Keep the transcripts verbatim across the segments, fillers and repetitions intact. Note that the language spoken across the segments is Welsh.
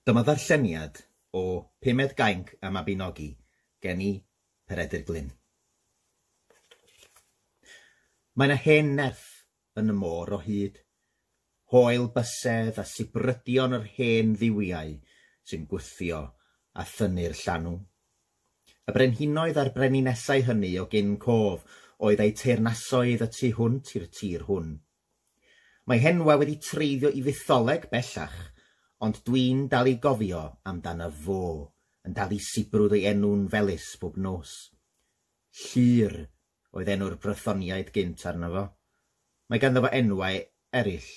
Dyma ddarlleniad o Pumed Gainc y Mabinogi gen i Peredur Glyn. Mae 'na hen nerth yn y môr o hyd, hoel bysedd a sibrydion yr hen dduwiau sy'n gwthio a thynnu'r llanw. Y brenhinoedd a'r breninesau hynny o gyn cof oedd eu teyrnasoedd y tu hwnt i'r tir hwn. Mae henwa wedi treiddio i fytholeg bellach, ond dwi'n dal i gofio amdano fo, yn dal i sibrwd ei enw'n felys bob nos. Llŷr oedd enw'r Brythoniaid gynt arno fo. Mae ganddo fo enwau eraill,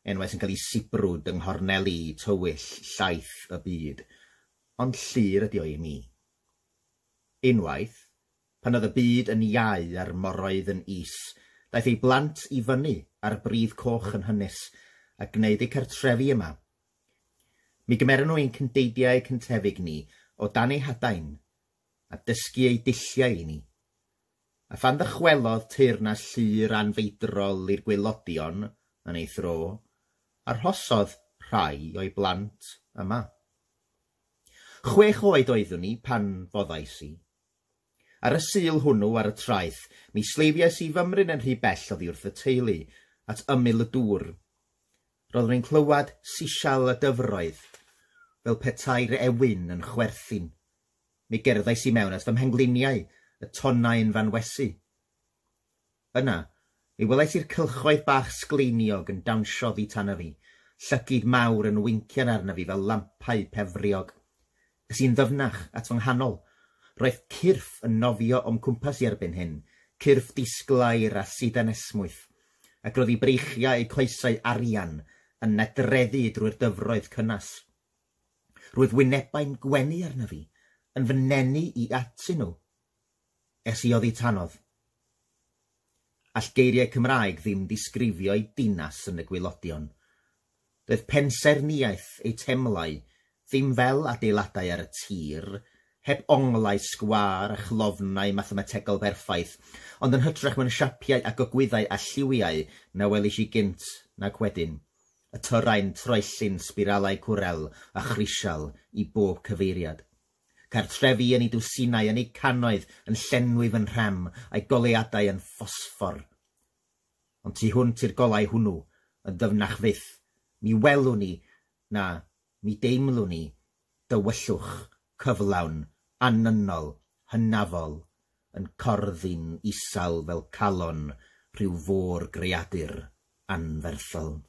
enwau sy'n cael eu sibrwd yng nghorneli tywyll llaith y byd, ond Llŷr ydi o i mi. Unwaith, pan oedd y byd yn iau a'r moroedd yn is, daeth ei blant i fyny ar bridd coch yn hynys a gwneud eu cartrefi yma. Mi gymeron nhw ein cyndeidiau cyntefig ni o dan eu hadain a dysgu eu dulliau i ni. A phan ddychwelodd teyrnas Llŷr anfeidrol i'r gwaelodion yn ei thro, arhosodd rhai o'i blant yma. Chwech oed oeddwn i pan foddais i. Ar y Sul hwnnw ar y traeth, mi sleifiais i fymryn yn rhy bell oddi wrth y teulu, at ymyl y dŵr. Roeddwn i'n clywed sisial y dyfroedd, fel petai'r ewyn yn chwerthin. Mi gerddais i mewn at fy mhengliniau, y tonnau yn fanwesu. Yna, mi welais i'r cylchoedd bach sgleiniog yn dawnsio oddi tano fi, llygid mawr yn wincian arna fi fel lampau pefriog. Es i'n ddyfnach at fy nghanol. Roedd cyrff yn nofio o'm cwmpas i erbyn hyn, cyrff disglair a sidan esmwyth, ac roedd eu breichiau a'u coesau arian yn nadreddu drwy'r dyfroedd cynnas. Roedd wynebau'n gwenu arna fi, yn fy nenu i atyn nhw. Es i oddi tanodd. All geiriau Cymraeg ddim disgrifio eu dinas yn y gwaelodion. Doedd pensaernïaeth eu temlau ddim fel adeiladau ar y tir, heb onglau sgwâr a chlofnau mathemategol berffaith, ond yn hytrach mewn siapiau a gogwyddau a lliwiau na welis i gynt nac wedyn. Y tyrau'n troelli'n sbiralau cwrel a chrisial i bob cyfeiriad. Cartrefi yn eu dwsinau, yn eu cannoedd, yn llenwi fy nhrem, a'i goleuadau yn ffosffor. Ond tu hwnt i'r golau hwnnw, yn ddyfnach fyth, mi welwn ni, na, mi deimlwn ni, dywyllwch, cyflawn, annynol, hynafol, yn corddi'n isal fel calon rhyw fôr greadur anferthol.